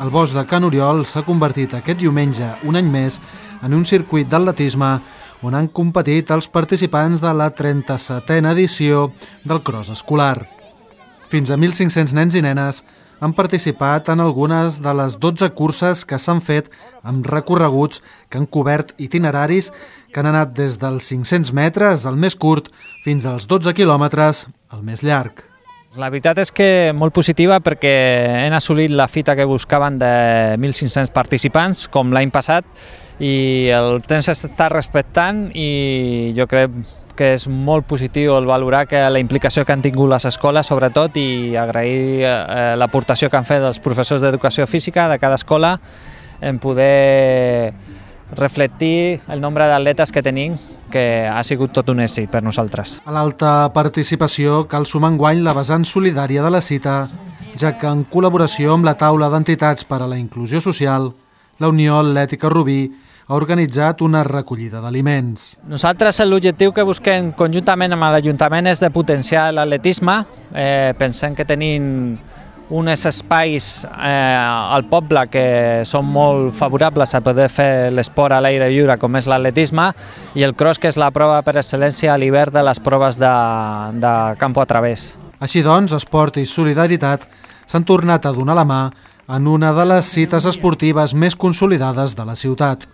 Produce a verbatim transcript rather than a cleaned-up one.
El Bosc de Can Oriol s'ha convertit aquest diumenge, un any més, en un circuit d'atletisme on han competit els participants de la trenta-setena edició del cross escolar. Fins a mil cinc-cents nens i nenes han participat en algunes de les dotze curses que s'han fet amb recorreguts que han cobert itineraris que han anat des dels cinc-cents metres, el més curt, fins als dotze quilòmetres, el més llarg. La veritat és que molt positiva perquè hem assolit la fita que buscaven de mil cinc-cents participants, com l'any passat, i el temps s'està respectant i jo crec que és molt positiu el valorar que la implicació que han tingut les escoles, sobretot, i agrair eh, l'aportació que han fet els professors d'educació física de cada escola en poder reflectir el nombre d'atletes que tenim, que ha sigut tot un èxit per nosaltres. A l'alta participació cal sumar enguany la vessant solidària de la cita, ja que en col·laboració amb la taula d'entitats per a la inclusió social, la Unió Atlètica Rubí ha organitzat una recollida d'aliments. Nosaltres l'objectiu que busquem conjuntament amb l'Ajuntament és de potenciar l'atletisme. Eh, pensem que tenim uns espais eh, al poble que són molt favorables a poder fer l'esport a l'aire lliure, com és l'atletisme, i el cross, que és la prova per excel·lència a l'hivern de les proves de, de campo a través. Així doncs, esport i solidaritat s'han tornat a donar la mà en una de les cites esportives més consolidades de la ciutat.